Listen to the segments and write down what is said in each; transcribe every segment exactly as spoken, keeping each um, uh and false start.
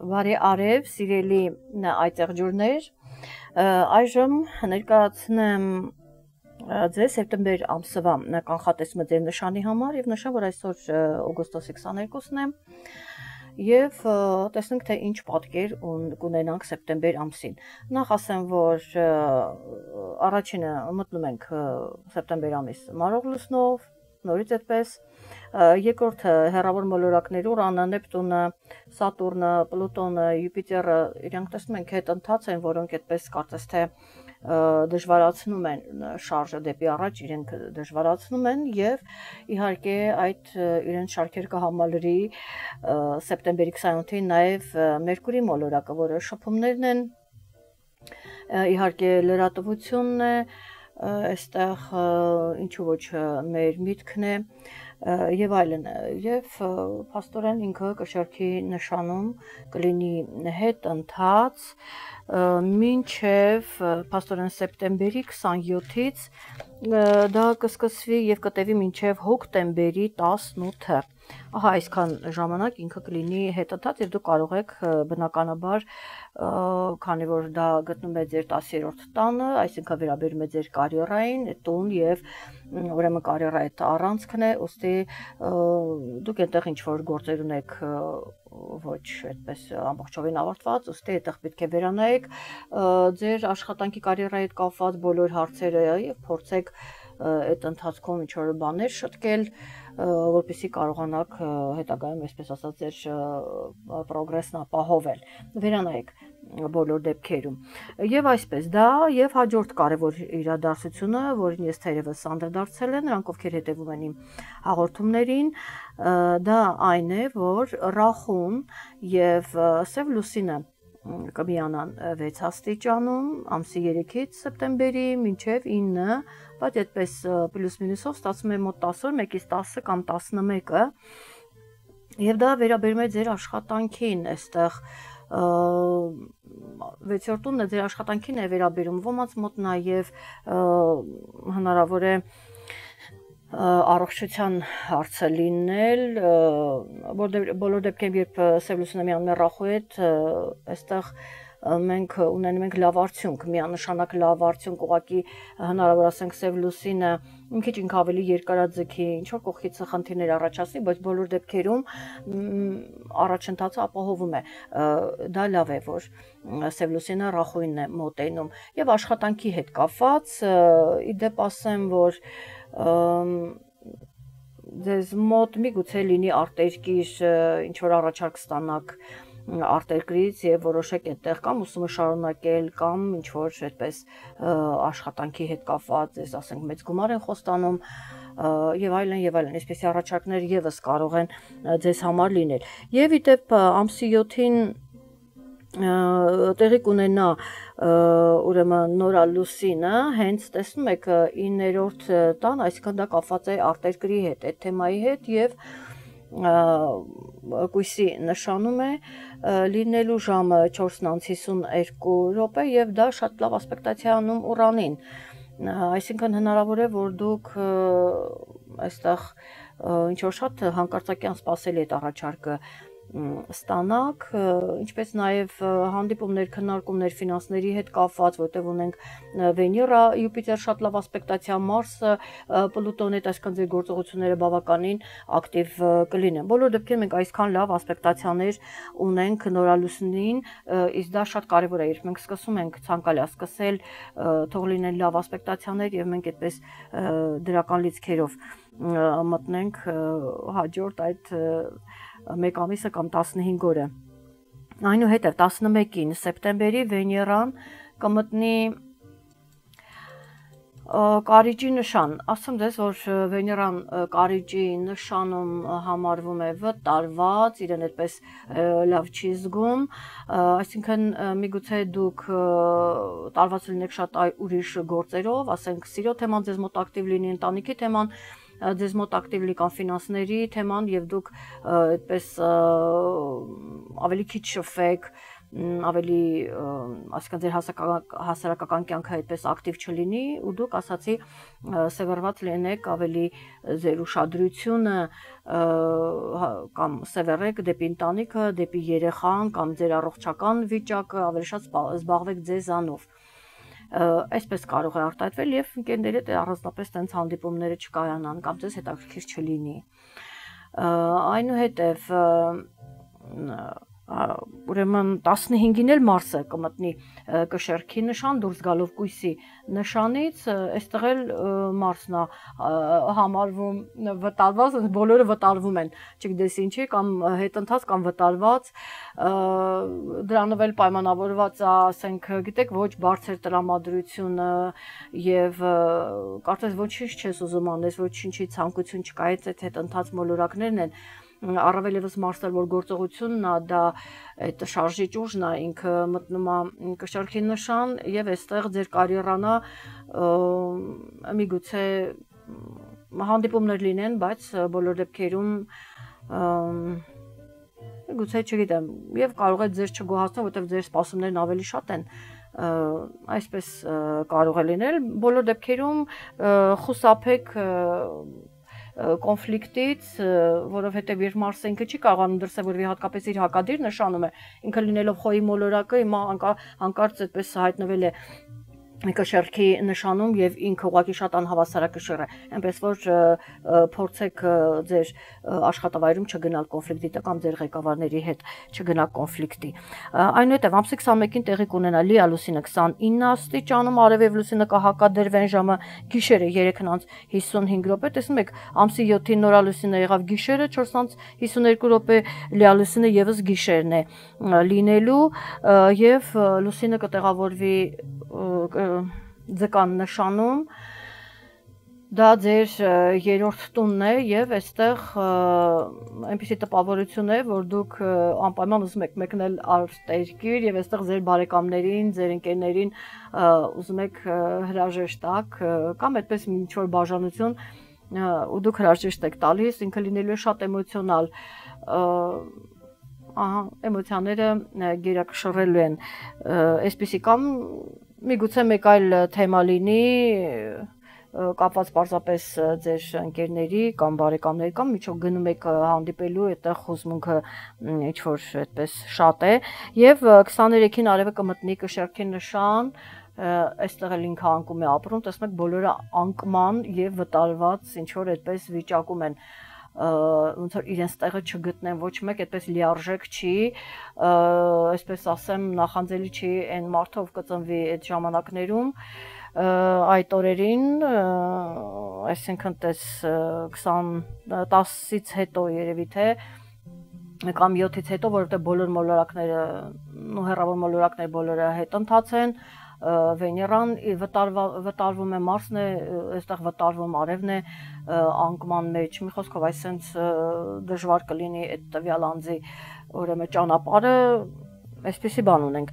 Բարի արև, սիրելի այծեղ ջուրներ, այժմ ներկայացնեմ ձեզ սեպտեմբեր ամսվա կանխատեսումը ձեր նշանի համար եւ նշեմ, որ այսօր օգոստոսի քսաներկուսն է եւ տեսնենք թե ինչ պատկեր կունենանք սեպտեմբեր ամսին։ Նախ ասեմ, որ առաջինը մտնում ենք սեպտեմբեր ամիս մարող լուսնով, նորից այդպես, երկրորդը հեռավոր մոլորակներ Ուրանը, Նեպտունը, Սատուրնը, Պլուտոնը, Յուպիտերը, իրանք տեսնում ենք հետընթաց են, որոնք այդպես կարծես թե դժվարացնում են շարժը դեպի առաջ, իրենք դժվարացնում են եւ իհարկե այդ իրենց շարքեր կհամալրի սեպտեմբերի քսանութին նաեւ Մերկուրի մոլորակը, որը շփումներն են, իհարկե լրատվությունն է, այստեղ ինչու ոչ մեր միտքն է եւ այլն եւ փաստորեն ինքը կշարքի նշանում կլինի հետընթաց մինչեւ փաստորեն սեպտեմբերի քսանյոթից դա կսկսվի եւ կտևի մինչեւ հոկտեմբերի տասնութը։ Ահա այսքան ժամանակ ինքը կլինի հետընթաց եւ դուք կարող եք բնականաբար, քանի որ դա գտնում է ձեր տասերորդ տանը, այսինքն վերաբերում է ձեր կարիերային, տուն եւ ուրեմն կարիերայի այդ առանցքն է, ուստի դուք այնտեղ ինչ որ գործեր ունեք ոչ այդպես ամբողջովին ավարտված, ուստի այդտեղ պետք է վերանայեք ձեր աշխատանքի կարիերայի հետ կապված բոլոր հարցերը եւ փորձեք այդ ընթացքում ինչ որ բաներ շտկել, որպեսզի կարողանաք հետագայում, այսպես ասած, ձեր պրոգրեսն ապահովել։ Վերանայեք բոլոր դեպքերում։ Եվ այսպես դա եւ հաջորդ կարևոր իրադարձությունը, որին ես թերևս անդրադարձել եմ, նրանք ովքեր հետևում են իմ հաղորդումներին, դա այն է, որ Ռախուն եւ Սև լուսինը կմիանան վեց աստիճանում ամսի երեքից սեպտեմբերի մինչև ինը, բայց այդպես պլյուս մինուսով ստացվում է մոտ տասը օր, մեկից տասը կամ տասնմեկը, եւ դա վերաբերում է ձեր աշխատանքին, այստեղ վեցերորդ տունն է ձեր աշխատանքին է վերաբերում, ոմանց մոտ նաեւ հնարավոր է առողջության հարցը լինել, բոլոր դեպքերում երբ Սև լուսինը միանում է Ռախուի հետ, այստեղ մենք ունենում ենք լավ արդյունք, միանշանակ լավ արդյունք, ուղղակի հնարավոր ասենք Սև լուսինը մի քիչ ինքը ավելի երկարաձգի, ինչ որ կողքից խնդիրներ առաջացնի, բայց բոլոր դեպքերում առաջընթացը ապահովում է։ Դա լավ է, որ Սև լուսինը Ռախուին է մոտենում եւ աշխատանքի հետ կապված, իդեպ ասեմ, որ ձեզ մոտ միգուցե լինի արտերկիր ինչ որ առաջարկ ստանաք արտերկրից եւ որոշեք այդտեղ կամ ուսումը շարունակել կամ ինչ որ այդպես աշխատանքի հետ կապված, ես ասենք մեծ գումար են խոստանում եւ այլն եւ այլն, այսպեսի առաջարկներ եւս կարող են ձեզ համար լինել։ Եվ իդեպ ամսի յոթին տեղի կունենա ուրեմն նորալուսինը, հենց տեսնում եք իններորդ տան, այսինքն դա կապված է արտերկրի հետ, այդ թեմայի հետ եւ կույսի նշանում է լինելու ժամը չորսն անց հիսուներկու րոպե եւ դա շատ լավ ասպեկտացիա անում Ուրանին, այսինքն հնարավոր է, որ դուք այստեղ ինչ որ շատ հանկարծակիան սպասելի այդ առաջարկը ստանաք, ինչպես նաև հանդիպումներ, քննարկումներ ֆինանսների հետ կապված, որտեղ ունենք Վեներա, Յուպիտեր շատ լավ ասպեկտացիա, Մարսը, Պլուտոնի հետ, այսքան ձեր գործողությունները բավականին ակտիվ կլինեն։ Բոլոր դեպքերում մենք այսքան լավ ասպեկտացիաներ ունենք նորալուսնին, իսկ դա շատ կարևոր է, երբ մենք սկսում ենք ցանկալի սկսել, թող լինեն լավ ասպեկտացիաներ եւ մենք այդպես դրական լիցքերով մտնենք հաջորդ այդ մեկ ամիսը կամ տասնհինգ օրը։ Այնուհետև տասնմեկին սեպտեմբերի Վեներան կմտնի Կարիճի նշան, ասեմ ձեզ, որ Վեներան Կարիճի նշանում համարվում է վտարված, իրեն այդպես լավ չի զգում, այսինքն միգուցե դուք տարված լինեք շատ ուրիշ գործերով, ասենք սիրո թեման ձեզ մոտ ակտիվ լինի, ընտանիքի թեման ձեզ մոտ ակտիվ լինի կամ ֆինանսների թեման եւ դուք այդպես ավելի քիչ շփվեք, ավելի այսինքն ձեր հասարակական կյանքը այդպես ակտիվ չլինի ու դուք ասացի սևեռված լինեք ավելի ձեր ուշադրությունը կամ սևեռեք դեպի ընտանիքը, դեպի երեխան կամ ձեր առողջական վիճակը, ավելի շատ զբաղվեք ձեզանով։ Այսպես կարող է արտահայտվել եւ ընկերների հետ առանձնապես տենց հանդիպումները չկայանան կամ ձեզ հետաքրքիր չլինի։ Այնուհետև ուրեմն տասնհինգին էլ Մարսը կմտնի կշեռքի նշան, դուրս գալով կույսի նշանից, այստեղ էլ Մարսն է համարվում վտարված, բոլորը վտարվում են, չգիտես ինչի, կամ հետընթաց կամ վտարված, դրանով էլ պայմանավորված է, ասենք, գիտեք, ոչ բարձր տրամադրությունը եւ կարծես ոչինչ չես ուզում անես, ոչինչի ցանկություն չկա, այդ հետընթաց մոլորակներն են առավել եւս Մարսել որ գործողությունն է, դա այդ շարժիչ ուժն է, ինքը մտնում է կշեռքի նշան եւ այստեղ ձեր կարիերան է միգուցե հանդիպումներ լինեն, բայց բոլոր դեպքերում միգուցե չգիտեմ, եւ կարող է ձեր չգոհացնել, որովհետեւ ձեր սպասումներն ավելի շատ են, այսպես կարող է լինել, բոլոր դեպքերում խուսափեք կոնֆլիկտից, որովհետև երբ Մարսը ինքը չի կարողանում դրսևորվի հատկապես իր հակադիր նշանում է, ինքը լինելով խոյի մոլորակը, հիմա հանկարծ այդպես հայտնվել է կշեռքի նշանում եւ ինքը ուղղակի շատ անհավասարակշիռ է, այնպես որ փորձեք ձեր աշխատավայրում չգնալ կոնֆլիկտի կամ ձեր ղեկավարների հետ չգնալ կոնֆլիկտի։ Այնուհետև ամսի քսանմեկին տեղի կունենա լիա լուսինը քսանինը աստիճանում, արևև լուսինը կհակադրվեն ժամը գիշերը երեքն հիսունհինգ րոպե, տեսնում եք, ամսի յոթին նորալուսինը եղավ գիշերը, չորսն հիսուներկու րոպե լիա լուսինը եւս գիշերն է լինելու եւ լուսինը կտեղավորվի ձկան նշանում, դա ձեր երրորդ տունն է եւ այստեղ այնպիսի տպավորություն է, որ դուք անպայման ուզում եք մեկնել արտերկիր եւ այստեղ ձեր բարեկամներին, ձեր ընկերներին ուզում եք հրաժեշտ տաք կամ այդպես ինչ որ բաժանություն ու դուք հրաժեշտ եք տալիս, ինքը լինելու է շատ էմոցիոնալ, ահա էմոցիաները գերակշռելու են, այսպիսի կամ միգուցե մեկ այլ թեմա լինի կապված պարզապես ձեր ընկերների կամ բարեկամների կամ միջով գնում եք հանդիպելու, այդտեղ հուզմունքը ինչ որ այդպես շատ է եւ քսաներեքին արևը կմտնի կշեռքի նշան, այստեղ էլ ինքը անկում է ապրում, տեսնում եք բոլորը անկման եւ վտարված ինչ որ այդպես վիճակում են, ոնց որ իրենց տեղը չգտնեն, ոչ մեկ այդպես լիարժեք չի, այսպես ասեմ, նախանձելի չի այն մարդը, ով կծնվի այդ ժամանակներում, այդ օրերին, այսինքն տես տասից հետո երևի թե կամ յոթից հետո, որովհետև բոլոր մոլորակները, ու հեռավոր մոլորակները բոլորը հետընթաց են, Վեներան վտարվում է, Մարսն է, այստեղ վտարվում արևն է անկման մեջ, մի խոսքով այսենց դժվար կլինի այդ տվյալ անձի ուրեմն ճանապարհը, այսպեսի բան ունենք,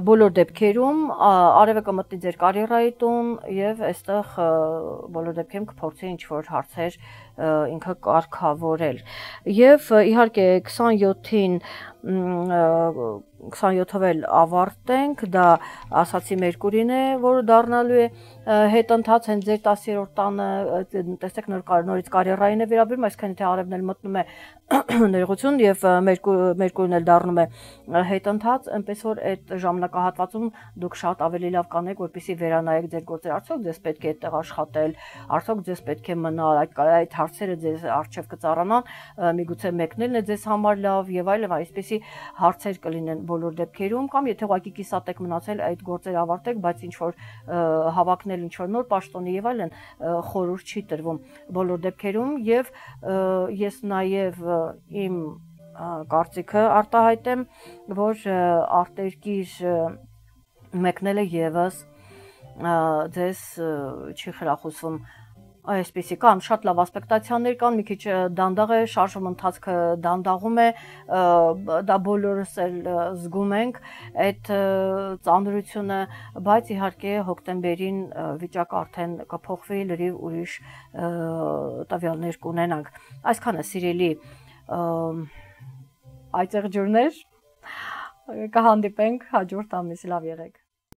բոլոր դեպքերում արևը կմտնի ձեր կարիերայի տուն եւ այստեղ բոլոր դեպքերում կփորձի ինչ որ հարցեր ինքը կարգավորել եւ իհարկե քսանյոթին քսանյոթով էլ ավարտենք, դա ասացի Մերկուրին է, որը դառնալու է հետընթաց հենց ձեր տասերորդ տանը, տեսեք նորից կարիերային է վերաբերում, այսինքն թե արևն էլ մտնում է ներողություն եւ Մերկուրին էլ դառնում է հետընթաց, այնպես որ այդ ժամանակահատվածում դուք շատ ավելի լավ կանեք, որպեսզի վերանայեք ձեր գործերը, արդյոք ձեզ պետք է այդտեղ աշխատել, արդյոք ձեզ պետք է մնալ, այդ հարցերը ձեզ առջև կծառանան, միգուցե մեկնելն է ձեզ համար լավ եւ այլն, այսպեսի հարցեր կլինեն բոլոր դեպքերում, կամ եթե ուղղակի կիսատ եք մնացել, այդ գործերը ավարտեք, բայց ինչ որ հավակնել ինչ որ նոր պաշտոնի եւ այլն խորհուրդ չի տրվում բոլոր դեպքերում եւ ես նաեւ իմ կարծիքը արտահայտեմ, որ արտերկիր մեկնելը եւս ձեզ չի խրախուսվում, այսպեսի կան շատ լավ ասպեկտացիաներ կան, մի քիչ դանդաղ է, շարժում ընթացքը դանդաղում է, դա բոլորս էլ զգում ենք այդ ծանրությունը, բայց իհարկե հոկտեմբերին վիճակը արդեն կփոխվի, լրիվ ուրիշ տվյալներ կունենանք։ Այսքանը սիրելի այծեղջուրներ, Կհանդիպենք հաջորդ ամիս, լավ եղեք։